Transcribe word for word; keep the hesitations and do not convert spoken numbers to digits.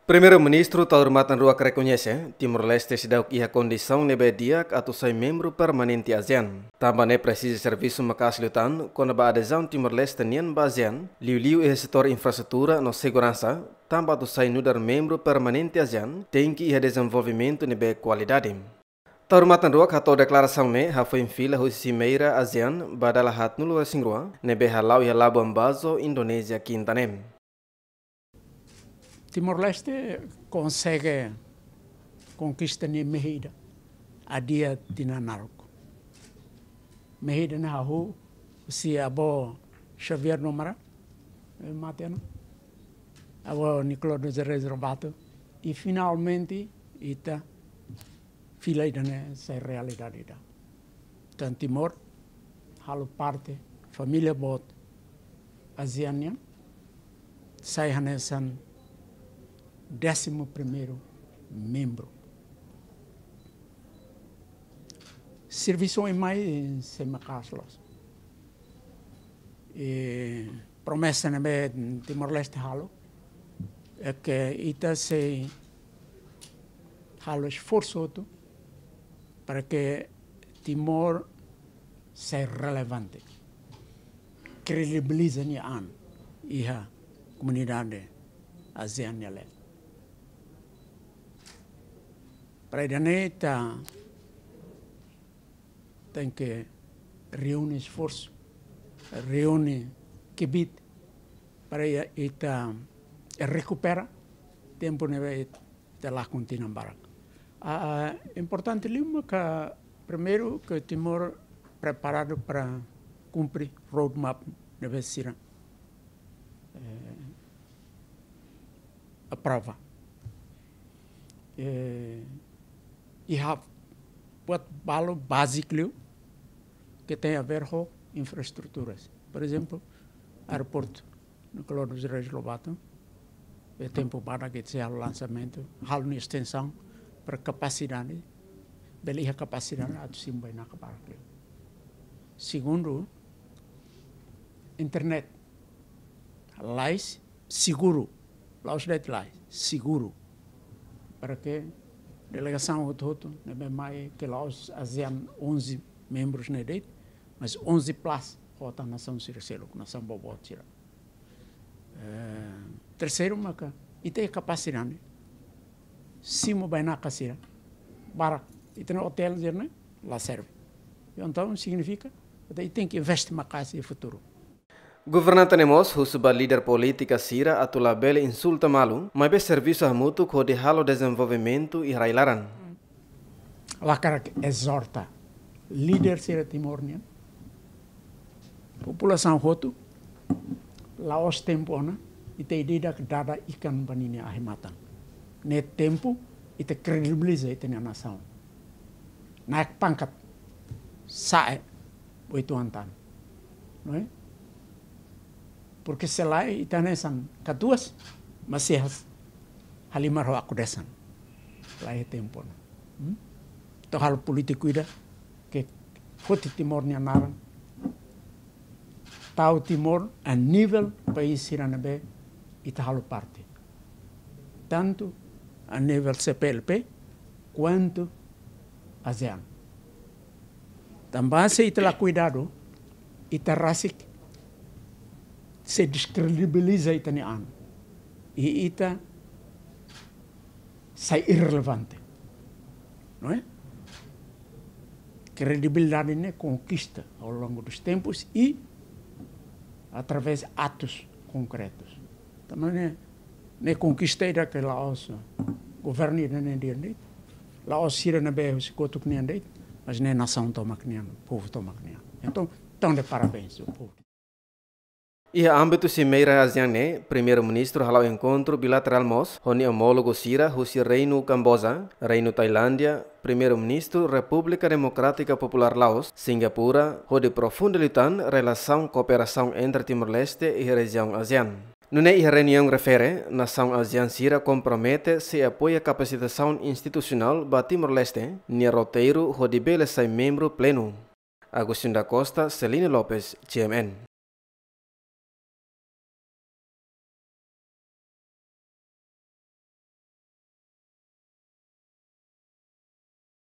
Primeiru-Ministru Taur Matan Ruak rekoñese, Timor-Leste seidauk iha kondisaun ne'ebé di'ak atu sai membru permanente ASEAN. Tanba ne'e presiza servisu maka'as liután kona-ba adezaun Timor-Leste nian ba ASEAN, liuliu iha setór infraestrutura no seguransa, tanba atu sai nu'udar membru permanente ASEAN, tenke iha dezenvolvimentu ne'ebé kualidade. Taur Matan Ruak hato'o deklarasaun ne'e hafoin fila husi simeira ASEAN ba dala haatnulu-resin-rua, ne'ebé hala'o iha Labuan Bajo, Indonézia, kinta ne'e. Timor-Leste konsege konkista nia mehi ida, adia tinan naruk. Mehi ida ne'e hahú husi avó Xavier Nomará, eh, mate ona, avó Nicolau dos Reis Lobato, i finalmente ita fila ida-ne'e sai realidade ida. Tan Timor halo parte família boot ASEAN nian, sai hanesan désimu primeiru membru. Servisu ema sei maka'as loos. I promesa ne'ebé Timor-Leste halo, é que ita sei halo esforsu hotu para que Timor sai relevante, kredibiliza nia an iha komunidade ASEAN nia leet. Para ida-ne'e ita tenke reúne esforsu, reúne kbiit para ita rekupera tempu ne'ebé ita lakon tinan barak. Ah, importante liu maka primeiru ke Timor preparadu para kumpre roadmap ne'ebé sira, eh, aprova. Eh, iha buat balu báziku liu que tem a ver ho infraestruturas. Por exemplo, aeroportu Nicolau dos Reis Lobato, iha tempu badak ita sei halo lansamentu, halo nia estensaun para kapasidade, bele iha kapasidade atu simu bainaka barak liu. Segundu, internet. Lais, seguru. La'ós de'it lais, seguru. Para que delegasaun hotu-hotu ne'ebé mai, ke la'ós ASEAN onze membrus ne'e de'it, mas onze plus, ho tan nasaun sira seluk, nasaun boboot sira. Eh, terseiru maka, ita iha kapasidade simu bainaka sira barak. Ita-nia otél sira-ne'e la serve. Entaun signifika katak ita tenke investe maka'as iha futuru. Governante ne'e mós husu ba líder polítika sira atu labele insulta malu, maibé servisu hamutuk hodi halo dezenvolvimentu iha rai-laran. Ha'u hakarak ezorta líder sira Timor nian, populasaun hotu, la'ós tempu ona ita ida-idak dada ikan ba ninia ahi-matan. Ne'e tempu ita kredibiliza ita-nia nasaun. Naik pangkat, sa'e ba oituan tan. Não é? Porque se lae ita hanesan katuas, mas se has halimar ho aku desan. Lae tempu ona. Hmm? Entaun halo polítiku ida ke foti Timor nia naran. Tau Timor a nivel país sira ne'ebé ita halo parte. Tantu a nivel C P L P, kuantu ASEAN. Tanba se ita la kuidadu, ita rasik sei deskredibiliza ita-nia an. I ita sai irrelevante. Não é? Kredibilidade ne'e konkista ao longo dos tempos e através de atos concretos. Tanba ne'e, ne'e konkista ida ke la'ós governu ida-ne'e nian de'it, la'ós sira ne'ebé husi kotuk nian de'it, mas ne'e nasaun tomak nian, povu tomak nian. Entaun, entaun de parabéns ao povo. Iha ámbitu simeira ASEAN ne'e, Primeiru-Ministru hala'o enkontru bilaterál mós ho nia omólogu sira husi Reinu Kamboja, Reinu Tailándia, Primeiru-Ministru Repúblika Demokrátika Populár Laos, Singapura, hodi aprofunda liután relasaun kooperasaun entre Timor-Leste iha rejiaun ASEAN. Nune'e iha reuniaun refere, nasaun ASEAN sira kompromete sei apoia kapasitasaun institusionál ba Timor-Leste nia roteiru hodi bele sai membru plenu. Agostinho da Costa, Celino Lopes, G M N.